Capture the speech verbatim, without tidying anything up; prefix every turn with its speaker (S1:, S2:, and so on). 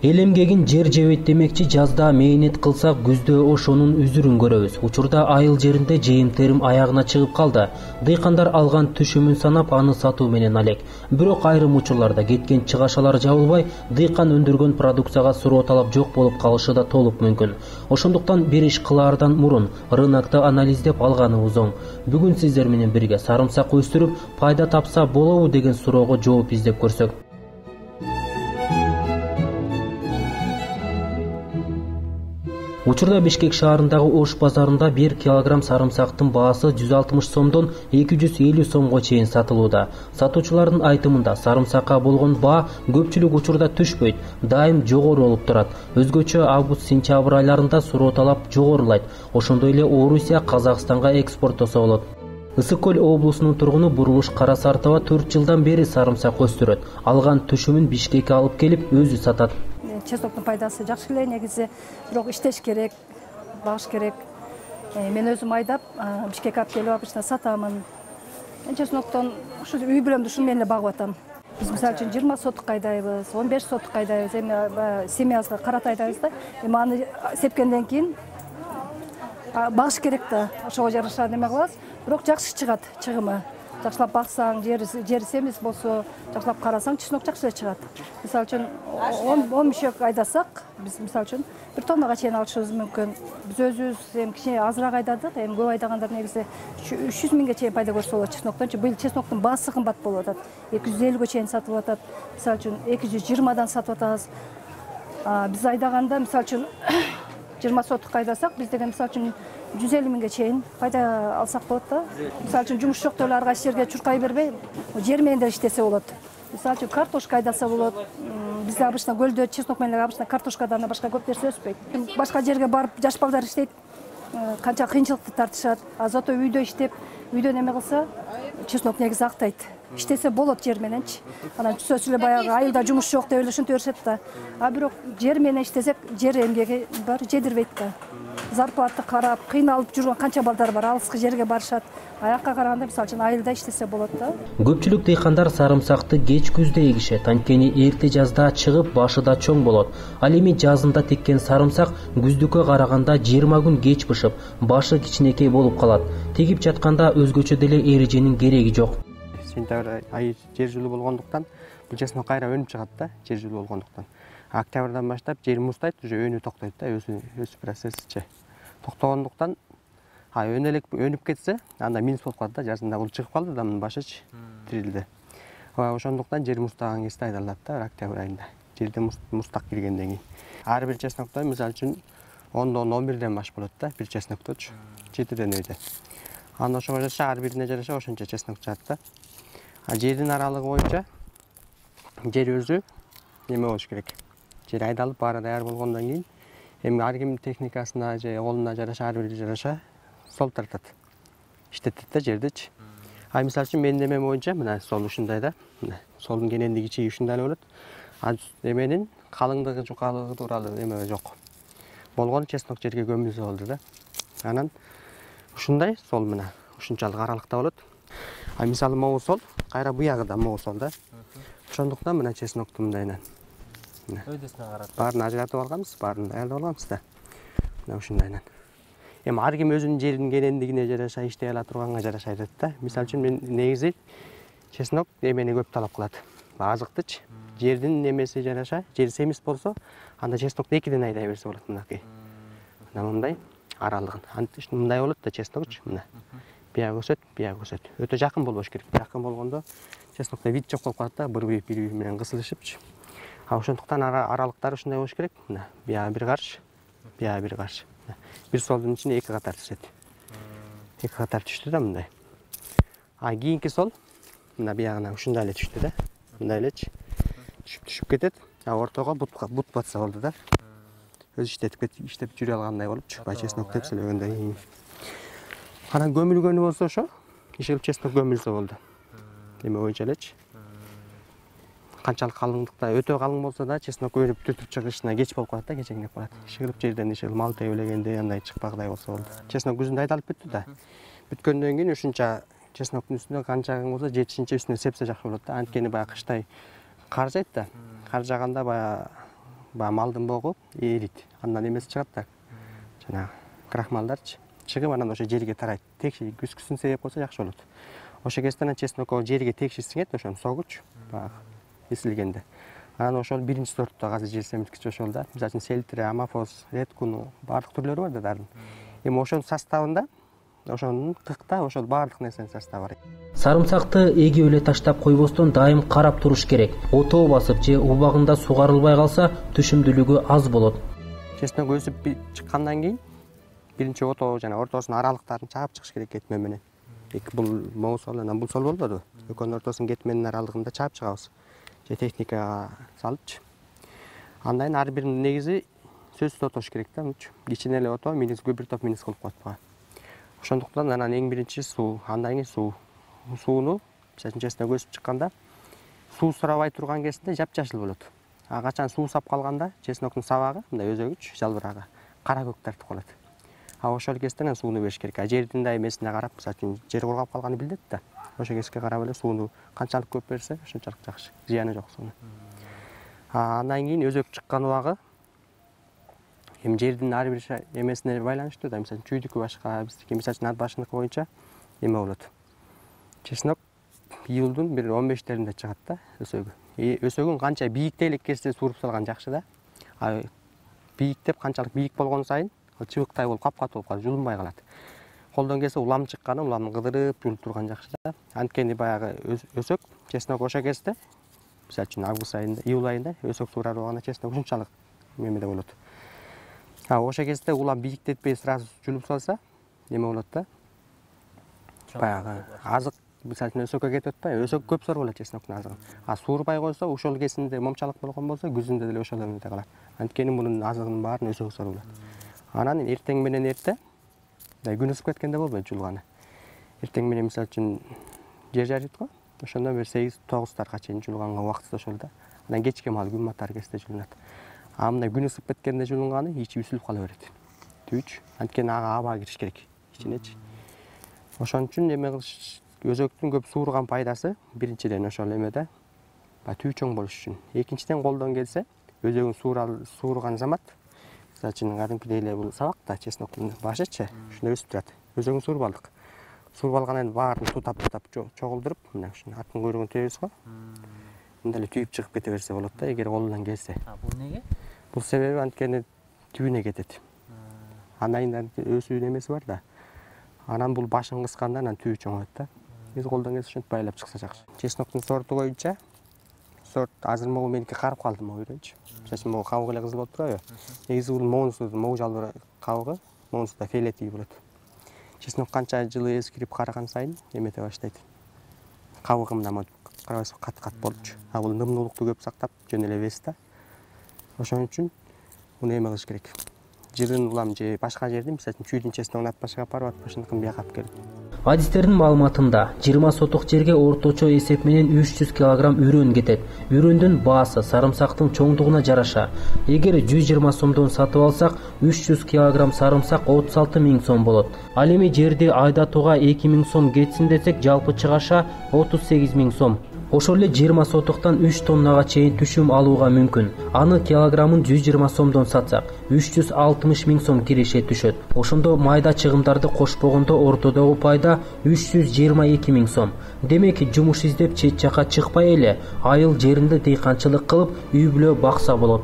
S1: Эл эмгегин жер жебейт демекчи, жазда мээнет кылсак күздө ошонун үзүрүн көрөбүз. Учурда айыл жеринде жыйын-терим аягына чыгып калды. Дыйкандар алган түшүмүн санап, аны сатуу менен алек. Бирок айрым учурларда кеткен чыгашалар жабылбай, дыйкан өндүргөн продукцияга суроо талап жок болуп калышы да толук мүмкүн. Ошондуктан бир иш кылаардан мурун рынокто анализдеп алганыбыз оң. Бүгүн сиздер менен бирге сарымсак өстүрүп, пайда тапса болобу деген суроого жооп издеп көрсөк. Учурда Бишкек шаарындагы Ош базарында бир килограмм сарымсактын баасы жүз алтымыш сомдон эки жүз элүү сомго чейин сатылууда. Сатуучулардын айтымында сарымсакка болгон баа көпчүлүк учурда түшпөйт, дайым жогору болуп турат. Өзгөчө август-сентябрь айларында суроо талап жогорулайт. Ошондой эле Орусия, Казакстанга экспорттосо болот. Ысык көл облусунун тургуну Бурулуш Карасартова төрт жылдан бери сарымсак өстүрөт. Алган түшүмүн Бишкекке алып келип, өзү сатат.
S2: Чесноктун пайдасы жакшы эле негизи, бирок иштеш керек, багыш керек. Мен өзүм айдап, Бишкекке алып келип обычно сатамын. Чесноктон ушу үй бүлөмдү ушун менен эле багып атам. Биз мисалы үчүн жыйырма сотук айдайбыз, он беш сотук айдайбыз. Эми семьябызга карата айдайбыз да. Эми аны сепкенден кийин багыш керек да. Ошого жараша неме кылабыз. Бирок жакшы чыгат чыгымы. Жакшылап баксаң, жери семиз болсо, жакшылап карасаң, чеснок жакшы эле чыгат. Мисалы үчүн он мешок айдасак, биз мисалы үчүн бир тоннага чейин алышыбыз мүмкүн. Биз өзүбүз эми кичине азыраак айдадык, эми көп айдагандар негизи үч жүз миңге чейин пайда көрсө болот чесноктон. Быйыл чесноктун баасы кымбат болуп атат. эки жүз элүүгө чейин сатылып атат. Мисалы үчүн эки жүз жыйырмадан сатып атабыз. Биз айдаганда мисалы үчүн жыйырма сотук айдасак, биз деген мисалы үчүн жүз элүү миңге чейин пайда алсак болот да. Мисалы үчүн жумуш жок деп эле ар кайсы жерге чуркай бербей, жер менен деле иштесе болот. Мисалы үчүн картошка айдаса болот. Бизде обычно көлдө чеснок менен обычно картошкадан башка көп нерсе өспөйт. Башка жерге барып жаш балдар иштейт, канча кыйынчылыкты тартышат. А зато үйдө иштеп, үйдө неме кылса, чеснок негизи актайт. Иштесе болот жер мененчи. Анан түзөсү эле баягы айылда жумуш жок деп эле ушинтип беришет да. А бирок жер менен иштесек, жер эмгеги бар жедирбейт да. Зарплата карап, кыйналып жүргөн канча балдар бар, алыскы жерге барышат. Аякка караганда мисалы үчүн айылда иштесе болот да.
S1: Көпчүлүк дыйкандар сарымсакты кеч күздө эгишет, анткени эрте жазда чыгып, башы да чоң болот. Ал эми жазында теккен сарымсак күздүккө караганда жыйырма күн кеч бышып, башы кичинекей болуп калат. Тегип жатканда өзгөчө деле эреженин кереги жок.
S3: Сентябрь айы жер жылуу болгондуктан бул чеснок кайра өнүп чыгат да, жер жылуу болгондуктан. Октябрдан баштап жер муздайт, уже өнүү токтойт да, өсүү өсүү процессичи токтогондуктан, а өнө элек өнүп кетсе, анда минус болуп калат да, жазында бул чыгып калды да, мунун башычы тирилди. Ошондуктан жер муздаган кезде айдалат да, октябрь айында. Жерде муздак киргенден кийин. Ар бир чеснокто мисалы үчүн ондон он бирден баш болот да, бир чеснокточу, жетиден өйдө. Анда ошого жараша ар бирине жараша ошончо чеснок чыгат да. А жердин аралыгы боюнча жер өзү неме болуш керек. Жер айдалып баары даяр болгондон кийин эми ар кимдин техникасына же колуна жараша ар бири жараша сол тартат. Иштетет да жердичи. А мисалы үчүн менин немем боюнча мына сол ушундай да. Мына солдун кенендиги чиги ушундай эле болот. А эменин калыңдыгы, жукалыгы тууралуу эме жок. Болгону чеснок жерге көмүлсө болду да. Анан ушундай сол мына ушунчалык аралыкта болот. А мисалы могу сол, кайра буягы да могу сол да. Ошондуктан мына чеснокту мындайынан
S1: Өйдөсүнө карап
S3: баарын ажыратып алганбыз, баарын даярдап алганбыз да. Мына ушундайынан. Эми ар ким өзүнүн жеринин кенендигине жараша иштей ала турганга жараша айтат да. Мисалы үчүн мен негизи чеснок эмени көп талап кылат. Азыктычы. Жердин немеси жараша, жер семиз болсо, анда чеснокду экиден айдай берсе болот мынакей. Мына мындай аралыгын. Антип мындай болот да чеснокчу мына. Бияга өсөт, бияга өсөт. Өтө жакын болбош керек. Жакын болгондо чеснокто вид жок болуп калат да, бири бири менен кысылышыпчы. А ошондуктан аралыктары ушундай болуш керек. Мына бияга бир карш, бияга бир карш. Бир солдун ичине эки катар түшөт. Эки катар түштү да мындай. А кийинки сол мына биягына ушундай эле түштү да. Мындай элечи. Түшүп түшүп кетет. А ортого бутка бут батса болду да. Өз иштетип кетип, иштеп жүрө алгандай болупчу. Бай чеснок тепселегенден кийин. Анан көмүлгөнү болсо ошо, ишелип чеснок көмүлсө болду. Эме боюнча элечи. Канчалык калыңдыкта өтө калың болсо да чеснок өнүп түтүп чыгышына кеч болуп калат да, кечеңдеп калат. Ишелип жерден ишелип мал тебелегенде андай чыкпагыдай болсо болду. Чеснок күзүндө айдалып бүттү да. Бүткөндөн кийин ушунча чесноктун үстүнө канча болсо жетишинче үстүнө сепсе жакшы болот да. Анткени баягы кыштай кар жайт да. Кар жаганда баягы баягы малдын богу эрийт, андан эмеси чыгат да, жанагы крахмалдарчы чыгып анан ошо жерге тарайт. Текши күзгүсүн себеп болсо жакшы болот. Ошо кезде анан чеснокко жерге текши сиңет, ошону согуч баягы эсилгенде. Анан ошол биринчи сорттогу азыр жер семирткич ошол да. Мисалы үчүн селтре, амафос, редкуну баардык түрлөрү бар да дарын. Эми ошонун составында ошонун кыкта ошол баардык нерсенин составы бар.
S1: Сарымсакты эгип эле таштап койбостон дайым карап туруш керек. Отоо басып же убагында сугарылбай калса түшүмдүүлүгү аз болот.
S3: Чеснок өсүп чыккандан кийин биринчи отоо жана ортосунун аралыктарын чаап чыгыш керек кетме менен. Эки бул моң сол анан бул сол болбоду. Экөөнүн ортосунун кетменин аралыгында чаап чыгабыз. Же техникага салыпчы. Андан ар биринин негизи сөзсүз отош керек да, мынчу. Кичине эле отоо минус көп бир топ минус кылып коет бага. Ошондуктан анан эң биринчи суу, андан кийин суу. Сууну, мисалы үчүн чеснок өсүп чыкканда суу сурабай турган кезинде жапжашыл болот. А качан суу сап калганда чесноктун сабагы, мындай өзөгүч, жалбырагы кара көк тартып калат. А ошол кезде анан сууну бериш керек. А жердин да эмесине карап, мисалы үчүн жер кургап калганы билдет да. Ошо кезге карап эле сууну канчалык көп берсе, ошончолук жакшы. Зыяны жок сууну. А андан кийин өзөк чыккан убагы эми жердин ар бир эмесине байланыштуу да. Мисалы чүйдүкү башка, биздики мисалы үчүн ат башыныкы боюнча эме болот. Чеснок июлдун бир он бештеринде чыгат да өсөгү. Өсөгүн канча бийиктей элек кезде сууруп салган жакшы да. А бийиктеп канчалык бийик болгон сайын чыбыктай болуп капкатуу болуп калат, жулунбай калат. Колдон келсе улам чыкканы, уламды кыдырып жулуп турган жакшы да. Анткени баягы өсөк, чеснок ошо кезде, мисалы үчүн август айында, июль айында өсөк суурар убагында чеснок ушунчалык эмеде болот. А ошо кезде улам бийиктетпей сразу жулуп салса, эме болот да. Баягы азык, мисалы үчүн өсөккө кетип атпайбы? Өсөк көп сорболот чесноктун азыгын. А суурбай койсо, ошол кезинде момчалык болгон болсо, күзүндө деле ошол эмеде калат. Анткени мунун азыгынын баарын өсөк сорболот. Анан эртең менен эрте, күн ысып кеткенде болбойт жулганы. Эртең менен мисалы үчүн жер жарыйт го, ошондон бир сегиз тогузтарга чейин жулганга убакыты ошол да. Анан кечке маал күн батар кезде жулунат. А мындай күн ысып кеткенде жулунганы ичи үсүлүп кала берет. Түйүч, анткени ага аба кириш керек ичинечи. Ошон үчүн эме кылыш, өзөктүн көп суурган пайдасы биринчиден ошол эмеде, түү чоң болуш үчүн. Экинчиден колдон келсе, өзөгүн суурган замат, мисалы үчүн кадимкидей эле бул сабак да, чесноктун башычы, ушундай өсүп турат. Өзөгүн сууруп алдык. Сууруп алгандан баарын тутап-тутап чогулдуруп, мына ушуну аттын куйругун тебебиз го. Мындай эле түйүп чыгып кете берсе болот да, эгер колунан келсе.
S1: А бул неге?
S3: Бул себеби анткени түбүнө кетет. Анайын өсүүнүн эмеси бар да. Анан бул башын кысканда анан түбү чоңойот да. Биз колдон келсе ушинтип байлап чыкса жакшы. Чесноктун сорту боюнча сорт азыр могу меники карып калды могу үйрөнчү. Мисалы үчүн могу кабыгы эле кызыл болуп турабы? Негизи бул моңусу, могу жалбыр кабыгы, моңусу фиолетовый болот. Чеснок канча жылы эскирип караган сайын эмете баштайт. Кабыгы мындай карабайсызбы, кат-кат болчу. А бул нымдуулукту көп сактап, жөн эле вес да. Ошон үчүн муну эме кылыш керек. Жырын улам же башка жерден, мисалы үчүн чүйдүн чесногун ат башыга алып барып, ат башыныкын бияка алып келип.
S1: Адистердин маалыматында жыйырма сотук жерге орточо эсеп менен үч жүз килограмм үрөн кетет. Үрөндүн баасы сарымсактын чоңдугуна жараша. Эгер жүз жыйырма сомдон сатып алсак, үч жүз килограмм сарымсак отуз алты миң сом болот. Ал эми жерди айдатууга эки миң сом кетсин десек, жалпы чыгаша отуз сегиз миң сом. Ошол эле жыйырма сотуктан үч тоннага чейин түшүм алууга мүмкүн. Аны килограммын жүз жыйырма сомдон сатсак, үч жүз алтымыш миң сом киреше түшөт. Ошондо майда чыгымдарды кошпогондо ортодогу пайда үч жүз жыйырма эки миң сом. Демек, жумуш издеп чет жака чыкпай эле айыл жеринде дыйканчылык кылып, үй бүлө бакса болот.